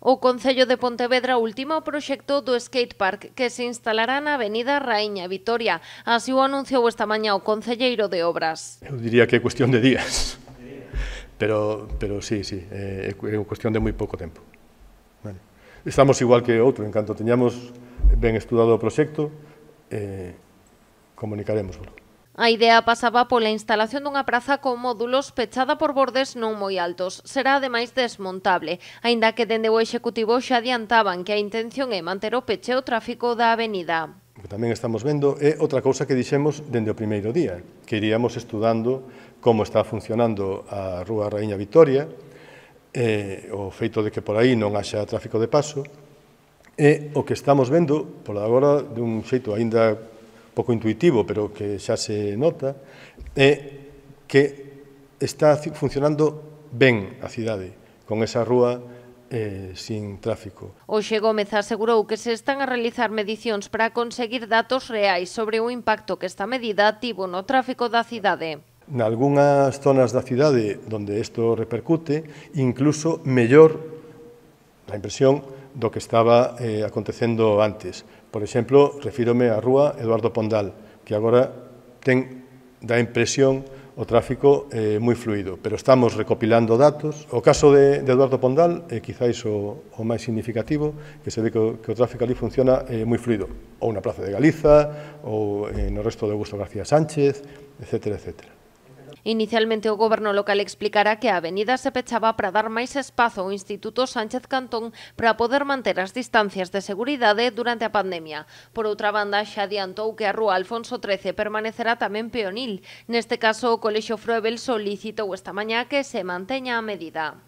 O Concello de Pontevedra ultima o proxecto do skatepark que se instalará na Avenida Raíña Vitoria. Así o anunciou esta mañá o concelleiro de Obras. Eu diría que é cuestión de días, pero sí, é cuestión de moi pouco tempo. Vale. Estamos igual que outro, en canto teñamos ben estudado o proxecto, comunicaremoslo. A idea pasaba pola instalación dunha praza con módulos pechada por bordes non moi altos. Será ademais desmontable, aínda que dende o Executivo xa adiantaban que a intención é manter o peche o tráfico da avenida. O que tamén estamos vendo é outra cousa que dixemos dende o primeiro día, que iríamos estudando como está funcionando a Rúa Raíña Vitoria, o feito de que por aí non haxa tráfico de paso, e o que estamos vendo, por agora, dun xeito aínda pouco intuitivo, pero que xa se nota, é que está funcionando ben a cidade, con esa rúa sin tráfico. Hoxe Gómez asegurou que se están a realizar medicións para conseguir datos reais sobre o impacto que esta medida tivo no tráfico da cidade. Nalgúnas zonas da cidade onde isto repercute, incluso mellor a impresión do que estaba acontecendo antes. Por exemplo, refírome á rúa Eduardo Pondal, que agora dá impresión o tráfico moi fluido, pero estamos recopilando datos. O caso de Eduardo Pondal é quizáis o máis significativo, que se ve que o tráfico ali funciona moi fluido, ou na Praza de Galiza, ou no resto de Augusto García Sánchez, etcétera, etcétera. Inicialmente o goberno local explicara que a avenida se pechaba para dar máis espazo ao Instituto Sánchez Cantón para poder manter as distancias de seguridade durante a pandemia. Por outra banda, xa adiantou que a rúa Alfonso XIII permanecerá tamén peonil. Neste caso, o Colexio Froebel solicitou esta mañá que se manteña a medida.